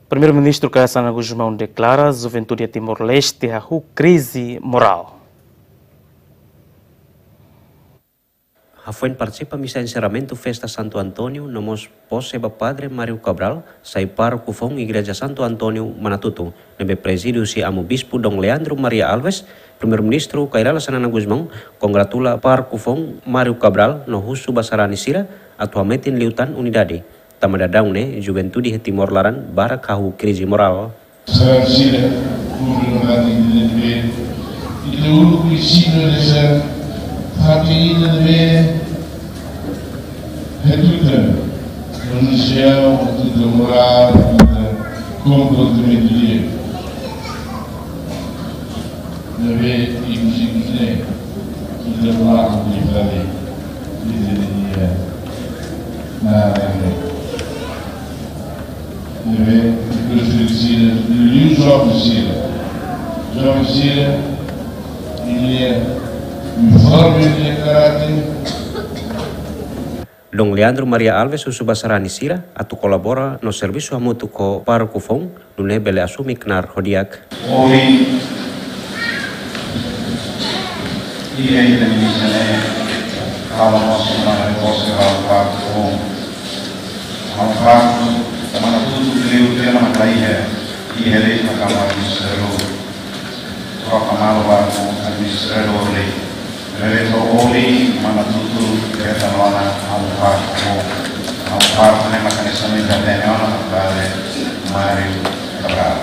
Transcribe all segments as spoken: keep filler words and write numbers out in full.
Primeiru-Ministru Kay Rala Xanana Gusmão deklara juventude Timor-Leste hahú krize morál. Hafoin partisipa misa enserramentu festa Santo António no mós pose ba Padre Mário Cabral, sai pároku foun Igreja Santo António Manatuto, ne'ebé prezide husi Amu Bispu Dom Leandro Maria Alves, Primeiru-Ministru Kay Rala Xanana Gusmão kongratula pároku foun Mário Cabral no husu ba sarani sira atu hametin liután unidade. Tanba daudaun ne'e, juventude iha Timor laran barak hahú krize morál. Sarani sira, públiku naran di N P, ita uluk presiza desa fatin ida ne'ebé hatutan, manusia hatutan morál, hatutan komportamentu di'ak. Ne'ebé ikus-ikus ne'e ita berlaku di fali, di dunia. Nah, ne'e. Ne'ebé ikus-ikus sira, liuliu joven sira. Joven sira, nia informe nia karáter. Dom Leandro Maria Alves husu ba sarani sira atu kolabora no servisu hamutuk ho pároku foun, nune'e bele asume knaar ho di'ak. Ohin, iha ita-nia misa ne'e, halo mós ona pose ba pároku foun. Halo pároku, mana tutu liu tema na iha, iha lei na kamar ministeriál. Troka malu ba administradór lei. Bele to oli mana tutu keta lona halo pároku. Halo pároku ne'e maka ne'e somente hatene ona Padre Mário Cabral.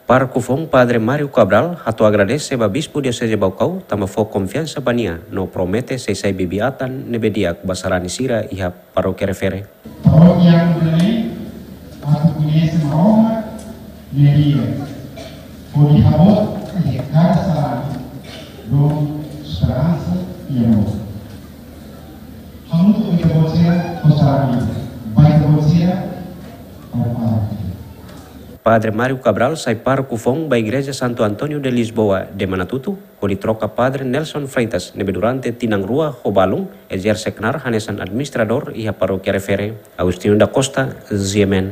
Pároku foun Padre Mário Cabral hato'o agradese ba Bispu Dioseze Baucau tanba fó konfiansa ba nia no promete sei sai bibi-atan ne'ebé di'ak ba sarani sira iha parókia refere. Parókia Amu Belém, atu koñese Maromak nia di'ak, hodi haboot iha kada sarani dom esperansa i amor. Hamutuk ho ita-boot sira, ho sarani, ba ita-boot sira, ba parókia. Padre Mário Cabral sai pároku foun ba Igreja Santo António de Lisboa de Manatuto, hodi troka Padre Nelson Freitas, ne'ebé durante tinan rua ho balun ezerse knaar hanesan administradór iha parókia refere. Agostinho da Costa, G M N.